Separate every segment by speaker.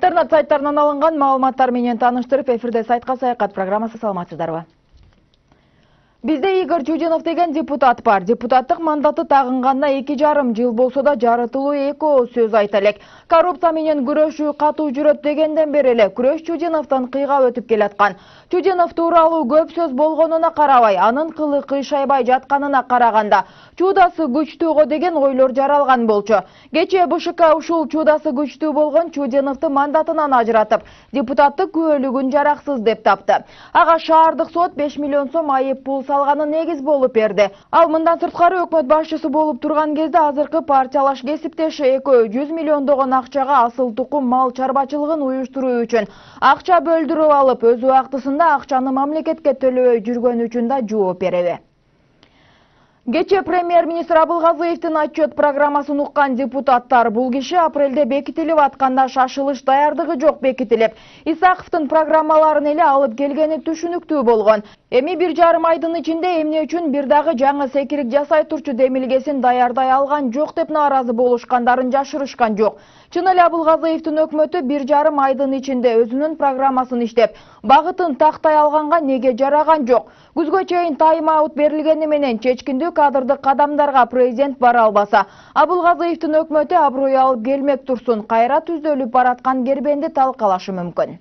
Speaker 1: Интернет сайттарынан алынган маалыматтар менен таныштырып, эфирде сайтка саякат программасы, саламатсыздарбы? Бизде Игорь Чудинов деген депутат бар. Депутаттык мандаты тагынганына 2,5 жыл болсо да жарытылуу эки сөз айта элек. Коррупция менен күрөшүү катуу жүрөт дегенден бери эле күрөш Чудиновдон кыйга өтүп келаткан. Чудинов тууралуу көп сөз болгонуна карабай, анын кылы кыйшайбай жатканына караганда, чуудасы күчтүүгө деген ойлор жаралган болчу. Кечээ БШК ушул чуудасы күчтүү болгон Чудиновду мандатынан ажыратып, депутаттык күбөлүгүн жараксыз деп тапты. Ага шаардык сот 5 миллион сом айып пул салганы негиз болуп берди. Ал мындан сырткары өкмөт башчысы болуп турган кезде азыркы партиялаш кесиптеши экөө 100 миллиондогон акчага асыл тукум мал чарбачылыгын уюштуруу үчүн акча бөлдүрүп алып, өз убактысында акчаны мамлекетке төлөбөй жүргөн үчүн да жооп береби. Кечээ премьер-министр Абылгазыевдин отчет программасын уккан депутаттар бул киши апрелде бекитилип атканда шашылыш даярдыгы жок бекитилип, Исаковдун программаларын эле алып келгени түшүнүктүү болгон. Эми 1,5 айдын ичинде эмне үчүн бир дагы жаңы секирик жасай турчу демилгесин даярдай алган жок деп нааразы болушкандарын жашырышкан жок. Чын эле Абылгазыевдин өкмөтү 1,5 айдын ичинде өзүнүн программасын иштеп, багытын тактай алганга неге жараган жок? Күзгө чейин тайм-аут берилгени менен чечкиндүү кадрдык кадамдарга президент бара албаса, Абылгазыевдин өкмөтү аброй алып келмек турсун, кайра түздөлүп бараткан кербенди талкалашы мүмкүн.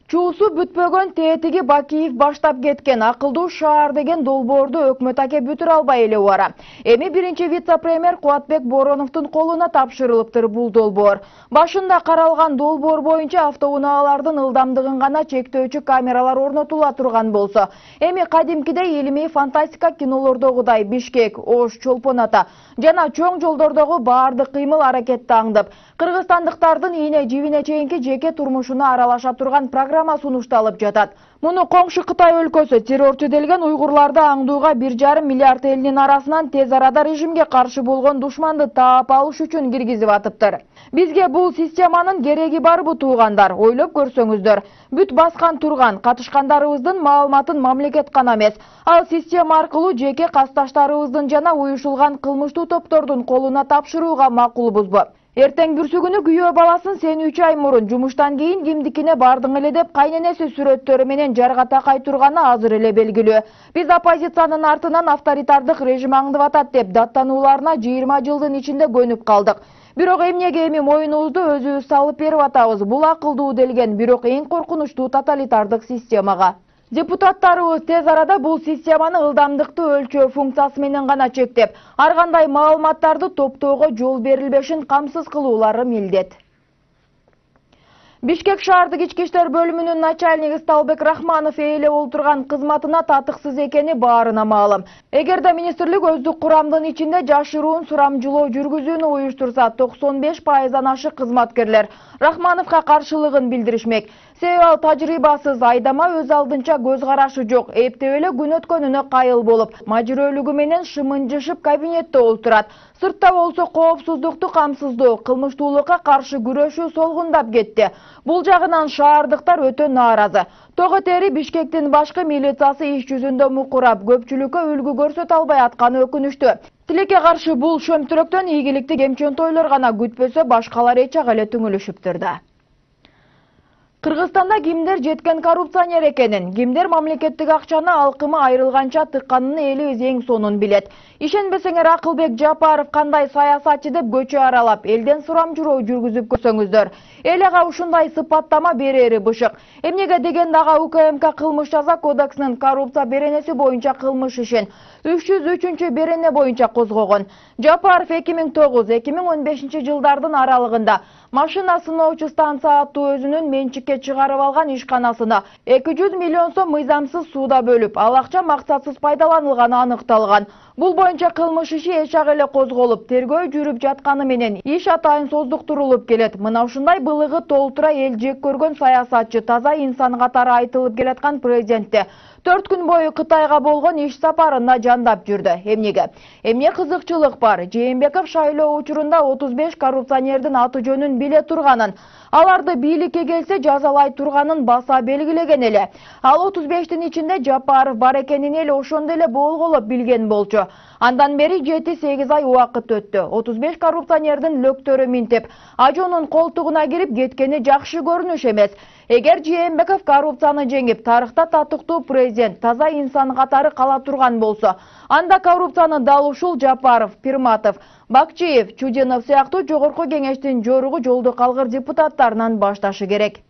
Speaker 1: Чуусу бүтпөгөн Тетиги Бакиев баштап кеткен акылдуу шаар деген долбоорду өкмөт аке бүтүрө албай эле убара. Эми биринчи вице-премьер Кубатбек Бороновдун колуна тапшырылыптыр бул долбоор. Башында каралган долбоор боюнча автоунаалардын ылдамдыгын гана чектөөчү камералар орнотула турган болсо, эми кадимкидей илимий фантастика кинолордогудай Бишкек, Ош, Чолпон Ата жана чоң жолдордогу баардык кыймыл аракетти аңдып, кыргызстандыктардын ийне жибине чейинки жеке турмушуна аралаша турган программа сунушталып жатат. Муну коңшу Кытай өлкөсү террорчу делген уйгурларды аңдууга 1,5 миллиард элдин арасынан тез арада режимге каршы болгон душманды таап алыш үчүн киргизип атыптыр. Бизге бул системанын кереги барбы туугандар, ойлоп көрсөңүздөр. Бүт баскан турган катышкандарыбыздын маалыматын мамлекет гана эмес, ал система аркылуу жеке касташтарыбыздын жана уюшулган кылмыштуу топтордун колуна тапшырууга макулбузбу? Эртең бүрсүгүнү күйөө баласын сен 3 ай мурун жумуштан кийин кимдикине бардың эле деп кайненеси сүрөттөрү менен жарга такай турганы азыр эле белгилүү. Биз оппозициянын артынан авторитардык режим аңдып атат деп даттанууларына 20 жылдын ичинде көнүп калдык. Бирок эмнеге эми моюнубузду өзүбүз салып берип атабыз? Бул акылдуу делген, бирок эң коркунучтуу тоталитардык системага. Депутаттарыбыз тез арада бул системаны ылдамдыкты өлчөө функциясы менен гана чектеп, ар кандай маалыматтарды топтоого жол берилбешин камсыз кылуулары милдет. Бишкек шаардык ички иштер бөлүмүнүн начальниги Сталбек Рахманов ээлеп олтурган кызматына татыксыз экени баарына маалым. Эгерде министрлик өздүк курамдын ичинде жашыруун сурамжылоо жүргүзүүнү уюштурса, 95%-дан ашык кызматкерлер Рахмановго каршылыгын билдиришмек. Себеби ал тажрыйбасыз, айдама, өз алдынча көз карашы жок, эптеп эле күн өткөнүнө кайыл болуп, мажүрөлүгү менен шымынжышып кабинетте олтурат. Сыртта болсо коопсуздукту камсыздоо, кылмыштуулукка каршы күрөшүү солгундап кетти. Бул жагынан шаардыктар өтө нааразы. Тоготери Бишкектин башкы милициясы иш жүзүндө мукурап, көпчүлүккө үлгү көрсөтө албай атканы өкүнүчтүү. Тилекке каршы бул шөмтүрөктөн ийгиликти кемчен тойлор гана күтпөсө, башкалар эч ак эле түңүлүшүптүр да. Кыргызстанда кимдер жеткен коррупционер экенин, кимдер мамлекеттик акчаны алкымы айрылганча тыкканын элибиз эң сонун билет. Ишенбесеңер, Акылбек Жапаров кандай саясатчы деп көчө аралап, элден сурамжыроо жүргүзүп көрсөңүздөр. Эл ага ушундай сыпаттама берери бышык. Эмнеге дегенде ага УКМК кылмыш жаза кодексинин коррупция беренеси боюнча кылмыш ишин 303 берене боюнча козгогон. Жапаров 2009-2015 жылдардын аралыгында машина сыноочу станция аттуу өзүнүн менчикке чыгарып алган ишканасына 200 миллион сом мыйзамсыз сууда бөлүп, ал акча максатсыз пайдаланылганы аныкталган. Бул боюнча кылмыш иши эч ак эле козголуп, тергөө жүрүп жатканы менен иш атайын создуктурулуп келет. Мына ушундай былыгы толтура эл жек көргөн саясатчы, таза инсан катары айтылып келаткан президентте 4 күн бою Кытайга болгон иш сапарында жандап жүрдү. Эмне кызыкчылык бар? Жээнбеков шайлоо учурунда 35 коррупционердин аты жөнүн биле турганын, аларды бийликке келсе жазалай турганын баса белгилеген эле. Ал 35-тин ичинде Жапаров бар экенин эле ошондо эле болголоп билген болчу. Андан бери 7-8 ай убакыт өттү. 35 коррупционердин лөктөрү минтип, ажоонун колтугуна кирип кеткени жакшы көрүнүш эмес. Эгер Жээнбеков коррупцияны жеңип, тарыхта татыктуу президент, таза инсан катары кала турган болсо, анда коррупцияны дал ушул Жапаров, Пирматов, Бакчиев, Чудинов сыяктуу жогорку кеңештин жоругу жолду калгыр депутаттарынан башташы керек.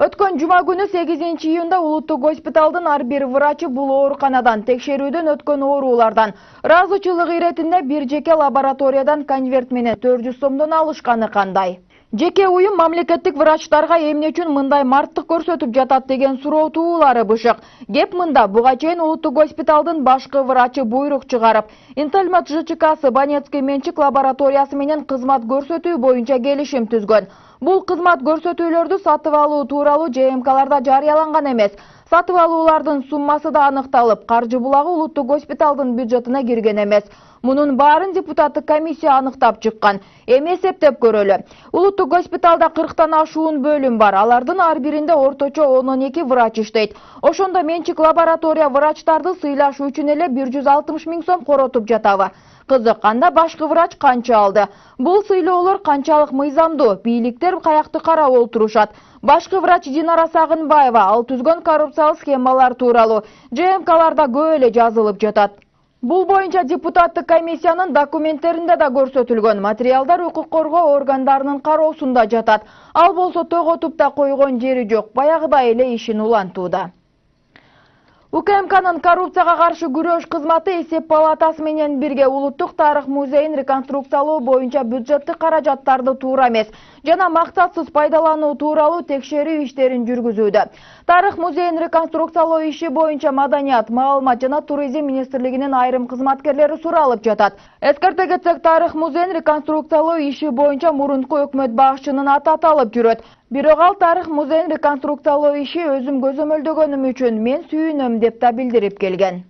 Speaker 1: Өткөн жума күнү 8 июнда улуттук госпиталдын ар бир врачы бул ооруканадан текшерүүдөн өткөн оорулардан ыраазычылык иретинде бир жеке лабораториядан конверт менен 400 сомдон алышканы кандай? Жеке уюм мамлекеттик врачтарга эмне үчүн мындай марттык көрсөтүп жатат деген суроо туулары бышык. Кеп мында буга чейин улуттук госпиталдын башкы врачы буйрук чыгарып, Интельмат ЖЧКсы Банецкий менчик лабораториясы менен кызмат көрсөтүү боюнча келишим түзгөн. Бул кызмат көрсөтүүлөрдү сатып алуу тууралуу ЖМКларда жарыяланган эмес. Сатып алуулардын суммасы да аныкталып, каржы булагы улуттук госпиталдын бюджетине кирген эмес. Мунун баарын депутаттык комиссия аныктап чыккан. Эми эсептеп көрөлү. Улуттук госпиталда 40тан ашуун бөлүм бар. Алардын ар биринде орточо 12 врач иштейт. Ошондо менчик лаборатория врачтарды сыйлашуу үчүн эле 160 000 сом коротуп жатабы? Кызык, анда башкы врач канча алды? Бул сыйлоолор канчалык мыйзамдуу? Бийликтер каякты карап олтурушат? Башкы врач Динара Сагынбаева ал түзгөн коррупциялык схемалар тууралуу ЖМКларда көп эле жазылып жатат. Бул боюнча депутаттык комиссиянын документтеринде да көрсөтүлгөн. Материалдар укук коргоо органдарынын кароосунда жатат. Ал болсо тоготуп да койгон жери жок. Баягыдай эле ишин улантууда. УКМКнын коррупцияга каршы күрөш кызматы эсеп палатасы менен бирге улуттук тарых музейин реконструкциялоо боюнча бюджеттик каражаттарды туура эмес жана максатсыз пайдалануу тууралуу текшерүү иштерин жүргүзүүдө. Тарых музейин реконструкциялоо иши боюнча Маданият, Маалымат жана Туризм министрлигинин айрым кызматкерлери суралып жатат. Эскерте кетсек, Тарых музейин реконструкциялоо иши боюнча мурунку өкмөт башчынын аты аталып жүрөт. Бирок ал Тарых музейин реконструкциялоо иши өзүм көзөмөлдөгөнүм үчүн мен сүйүнөм деп да билдирип келген.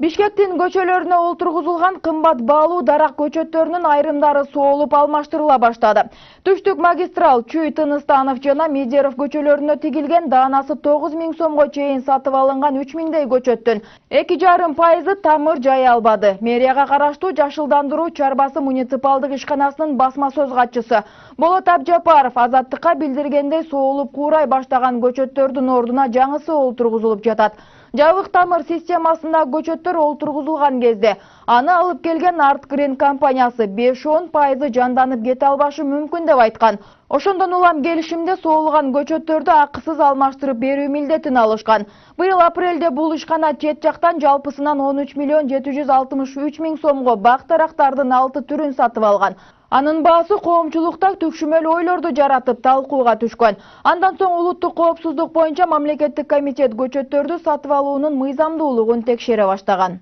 Speaker 1: Бишкектин көчөлөрүнө олтургузулган кымбат баалуу дарак көчөттөрүнүн айрымдары соолуп алмаштырыла баштады. Түштүк магистрал Чүй, Тыныстанов жана Медеров көчөлөрүнө тигилген даанасы 9 000 сомго чейин сатып алынган 3 000дей көчөттүн 2,5% тамыр жай албады. Мэрияга караштуу Жашылдандыруу чарбасы муниципалдык ишканасынын басма сөз катчысы Болот Абжапаров Азаттыкка билдиргендей соолуп куурай баштаган көчөттөрдүн ордуна жаңысы олтургузулуп жатат. Жабык тамыр системасында көчөттөр олтургузулган кезде аны алып келген Артгрин компаниясы 5-10% жанданып кете албашы мүмкүн деп айткан. Ошондон улам келишимде соолуган көчөттөрдү акысыз алмаштырып берүү милдетин алышкан. Быйыл апрелде бул ишкана чет жактан жалпысынан 13 763 000 сомго бак дарактардын 6 түрүн сатып алган. Анын баасы коомчулукта түкшүмөл ойлорду жаратып талкууга түшкөн. Андан соң улуттук коопсуздук боюнча мамлекеттик комитет көчөттөрдү сатып алуунун мыйзамдуулугун текшере баштаган.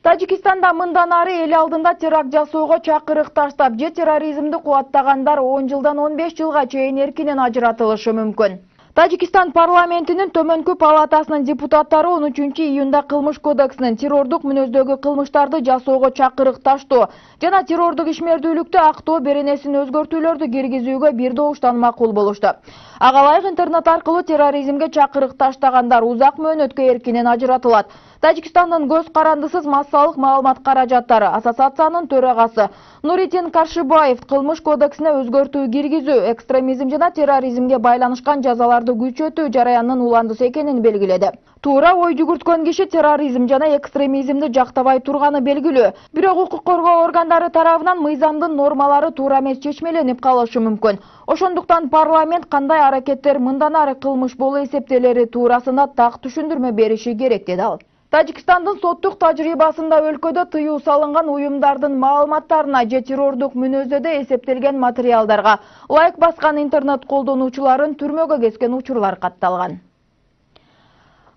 Speaker 1: Тажикистанда мындан ары эл алдында теракт жасоого чакырык таштап, же терроризмди кубаттагандар 10 жылдан 15 жылга чейин эркинен ажыратылышы мүмкүн. Тажикистан парламентинин төмөнкү палатасынын депутаттары 13 июнда кылмыш кодексинин террордук мүнөздөгү кылмыштарды жасоого чакырык таштоо жана террордук ишмердүүлүктү актоо беренесин өзгөртүүлөрдү киргизүүгө бир добуштан макул болушту. Ага ылайык интернет аркылуу терроризмге чакырык таштагандар узак мөөнөткө эркинен ажыратылат. Тажикстандын көз карандысыз массалык маалымат каражаттары ассоциациянын төрагасы Нуритин Каршыбаев кылмыш кодексине өзгөртүү киргизүү, экстремизм жана терроризмге байланышкан жазаларды күчөтүү жараянынын уландысы экенин белгиледи. Туура ой жүгүрткөн киши терроризм жана экстремизмди жактабай турганы белгилүү. Бирок укук коргоо органдары тарабынан мыйзамдын нормалары туура эмес чечмеленип калышы мүмкүн. Ошондуктан парламент кандай аракеттер мындан ары кылмыш болуп эсептелери туурасында так түшүндүрмө бериши керек, деди ал. Тажикстандын соттук тажрыйбасында өлкөдө тыюу салынган уюмдардын маалыматтарына же террордук мүнөздөдө эсептелген материалдарга лайк баскан интернет колдонуучуларын түрмөгө кескен учурлар катталган.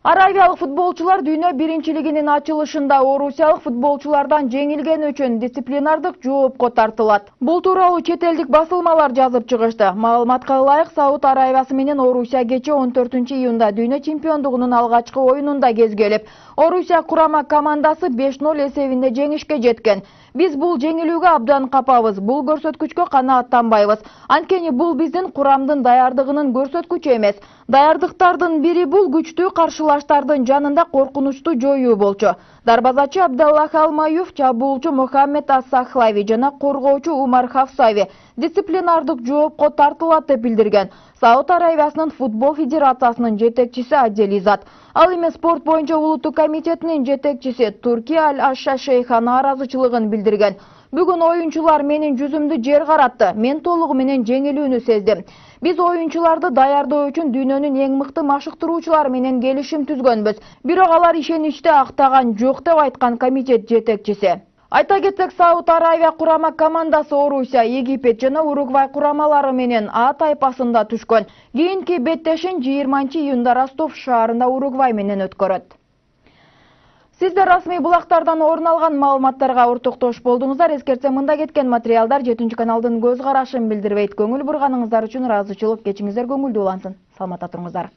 Speaker 1: Аравиялык футболчулар дүйнө биринчилигинин ачылышында орусиялык футболчулардан жеңилгени үчүн дисциплинардык жоопко тартылат. Бул тууралуу чет элдик басылмалар жазып чыгышты. Маалыматка ылайык, Сауд Аравиясы менен Орусия кечээ 14-июнда дүйнө чемпиондугунун алгачкы оюнунда кезгелип, Орусия курама командасы 5-0 эсебинде жеңишке жеткен. Биз бул жеңилүүгө абдан капабыз, бул көрсөткүчкө канааттанбайбыз. Анткени бул биздин курамдын даярдыгынын көрсөткүчү эмес. Даярдыктардын бири бул күчтүү каршылаштардын жанында коркунучту жоюу болчу. Дарбазачы Абдаллах Алмаюв, чабуулчу Мухаммед Ас-Сахлави жана коргоочу Умар Хафсави дисциплинардык жоопко тартылат деп билдирген Сауд Аравиясынын футбол федерациясынын жетекчиси Аделизат. Ал эми спорт боюнча улуттук комитетинин жетекчиси Турки Аль-Ашша Шейха нааразычылыгын билдирген. Бүгүн оюнчулар менин жүзүмдү жер каратты. Мен толугу менен жеңилүүнү сездим. Биз оюнчуларды даярдоо үчүн дүйнөнүн эң мыкты машыктыруучулары менен келишим түзгөнбүз. Бирок алар ишеничти актаган жок деп айткан комитет жетекчиси. Айта кетсек, Сауд Аравия курама командасы Орусия, Египет жана Уругвай курамалары менен А тайпасында түшкөн. Кийинки беттешин 20-июнда Ростов шаарында Уругвай менен өткөрөт. Сиздер расмий булактардан орун алган маалыматтарга ортоктош болдуңуздар. Эскертсем, мында кеткен материалдар 7 каналдын көз карашын билдирбейт. Көңүл бурганыңыздар үчүн ыраазычылык. Кечиңиздер көңүлдүү улансын. Саламатта туруңуздар.